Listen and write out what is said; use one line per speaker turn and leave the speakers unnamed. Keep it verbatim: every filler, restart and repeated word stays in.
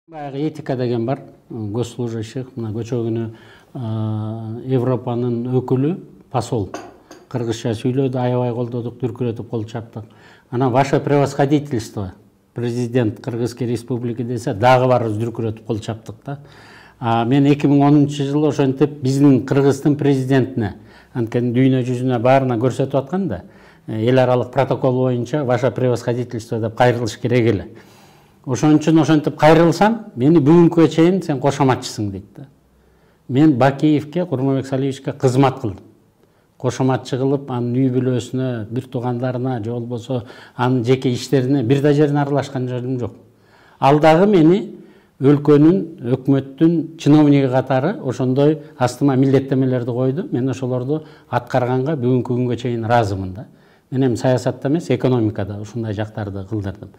Баягы этика деген бар, госслужащих, мына көчө күнү Европанын өкүлү, посол кыргызча сүйлөдү, аябай колдодук, дүркүрөтүп кол чаптык. Анан ваше превосходительство, президент Кыргызской республики десе, дагы барыбыз дүркүрөтүп кол чаптык да. Мен эки миң онунчу жылы ошентип биздин Кыргыздын президентине, анткени дүйнө жүзүнө баарына көрсөтүп аткан да, эл аралык протокол боюнча ваше превосходительство деп кайрылыш керек эле. Ошон үчүн ошентип кайрылсам, мени бүгүнкүгө чейин сен кошоматчысың дейт да. Мен Бакиевке, Курманбек Салиевичке кызмат кылдым. Кошоматчы кылып, анын үй бүлөсүнө, бир туугандарына, же болбосо анын жеке иштерине бир да жерине аралашкан жерим жок. Ал дагы мени өлкөнүн, өкмөттүн чиновниги катары ошондой астыма милдеттемелерди койду. Мен ошолорду аткарганга бүгүнкү күнгө чейин ыраазымын да. Мен эми саясатта эмес, экономикада ушундай жактарды кылдырдым.